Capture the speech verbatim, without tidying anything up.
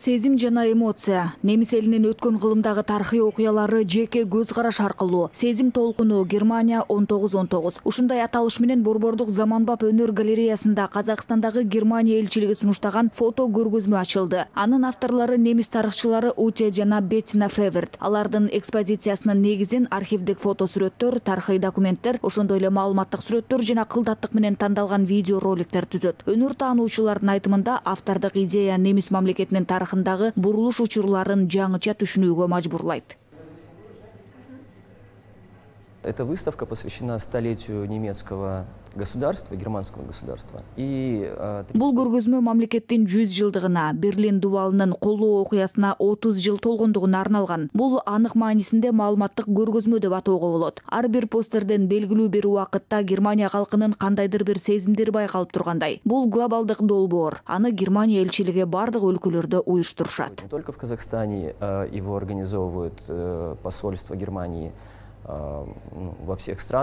Сезим жана эмоция. Немис элинин өткөн кылымдагы тарыхый окуялары жеке көз караш аркылуу. Сезим толкуну Германия он тогуз он тогуз. Ушундай аталыш менен Борбордук заманбап өнөр галереясында Казакстандагы Германия элчилиги сунуштаган фото көргөзмө ачылды. Анын авторлору немис тарыхчылары Уте жана Беттина Фреверт. Алардын экспозициясынын негизин архивдик фото сүрөттөр, тарыхый документтер, ошондой эле маалыматтык сүрөттөр жана кылдаттык менен тандалган видео роликтер түзөт. Өнөр таануучулардын айтымында автордук идея немис мамлекетинин тарыхындагы бурулуш учурларын жаңыча түшүнүүгө мажбурлайт. Эта выставка посвящена столетию немецкого государства, германского государства. И бул көргөзмө мамлекеттин жүз жылдыгына, Берлин дубалынын колоо окуясына отуз жыл толгондугуна арналган. Бул анык маанисинде маалыматтык көргөзмө деп атоого болот. Ар бир постерден белгилүү бир убакытта Германия калкынын кандайдыр бир сезимдери байкалып тургандай. Бул глобалдык долбоор. Аны Германия элчилиги бардык өлкөлөрдө уюштурушат. Не только в Казахстане его организовывают посольство Германии во всех странах.